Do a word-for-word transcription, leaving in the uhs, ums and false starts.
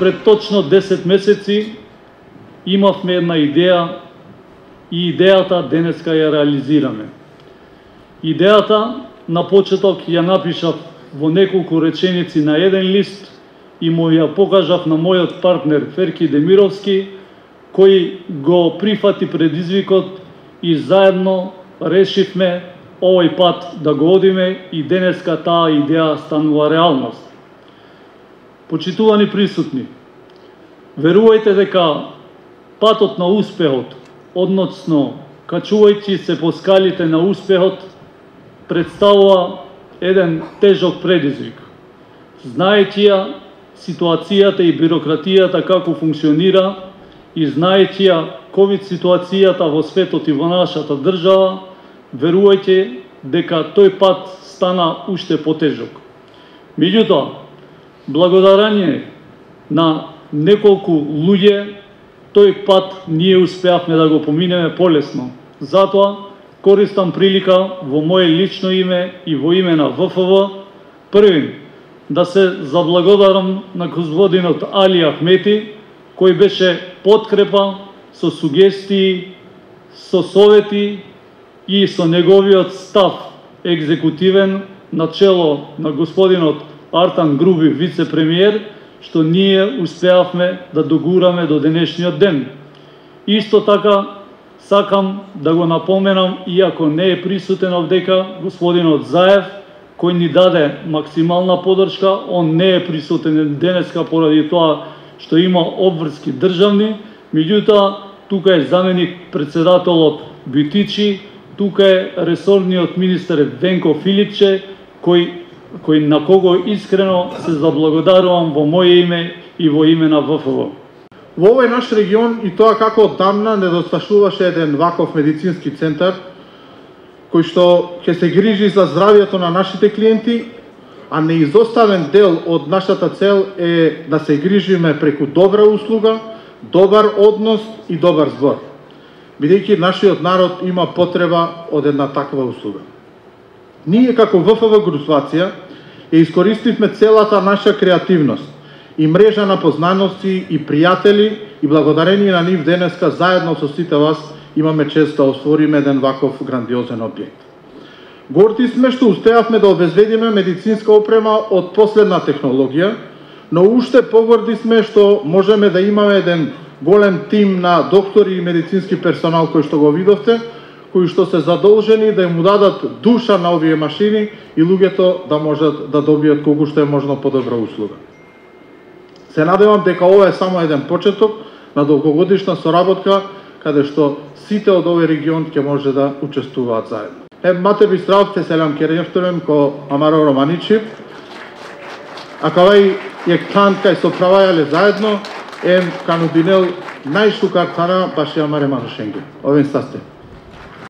пред точно десет месеци имавме една идеја и идејата денеска ја реализираме. Идејата на почеток ја напишав во неколку реченици на еден лист и му ја покажав на мојот партнер Ферки Демировски, кој го прифати предизвикот и заедно решивме овој пат да го одиме и денеска таа идеја станува реалност. Почитувани присутни, верувајте дека патот на успехот, односно качувајќи се по скалите на успехот, представува еден тежок предизвик. Знаејќи ја ситуацијата и бирократијата како функционира и знаејќи ја ковид ситуацијата во светот и во нашата држава, верувајте дека тој пат стана уште потежок. Меѓутоа, благодарение на неколку луѓе, тој пат ние успеавме да го поминеме полесно. Затоа користам прилика во моје лично име и во име на В Ф В, првим да се заблагодарам на господинот Али Ахмети, кој беше подкрепа со сугестии, со совети и со неговиот став екзекутивен на чело на господинот Артан Груби, вице-премиер, што ние успеавме да догураме до денешниот ден. Исто така, сакам да го напоменам, иако не е присутен овдека, господинот Заев, кој ни даде максимална подршка, он не е присутен денеска поради тоа што има обврски државни, меѓутоа, тука е заменик председателот Бютичи, тука е ресорниот министер Венко Филипче, кој кој на кого искрено се заблагодарувам во моје име и во име на В Ф В. Во овој наш регион и тоа како одамна недосташуваше еден ваков медицински центар кој што ќе се грижи за здравјето на нашите клиенти, а неизоставен дел од нашата цел е да се грижиме преку добра услуга, добар однос и добар збор, бидејќи нашиот народ има потреба од една таква услуга. Ние како В Ф В Груцвација ја искористивме целата наша креативност и мрежа на познаности и пријатели и благодарение на нив денеска заедно со сите вас имаме чест да освориме еден ваков грандиозен објект. Горди сме што успеавме да обезбедиме медицинска опрема од последна технологија, но уште погорди сме што можеме да имаме еден голем тим на доктори и медицински персонал кој што го видовте, кои што се задолжени да им дадат душа на овие машини и луѓето да можат да добијат колку што е можно подобра услуга. Се надевам дека ова е само еден почеток на долгогодишна соработка каде што сите од овој регион ќе може да учествуваат заедно. Hem mate bi zdravte selam kereftunem ko Amaro Romanici. A kawai jek tant kaj so pravajale zajedno, em kanudinel najštukar tana baš je Amare Manušengi. Ovim staste.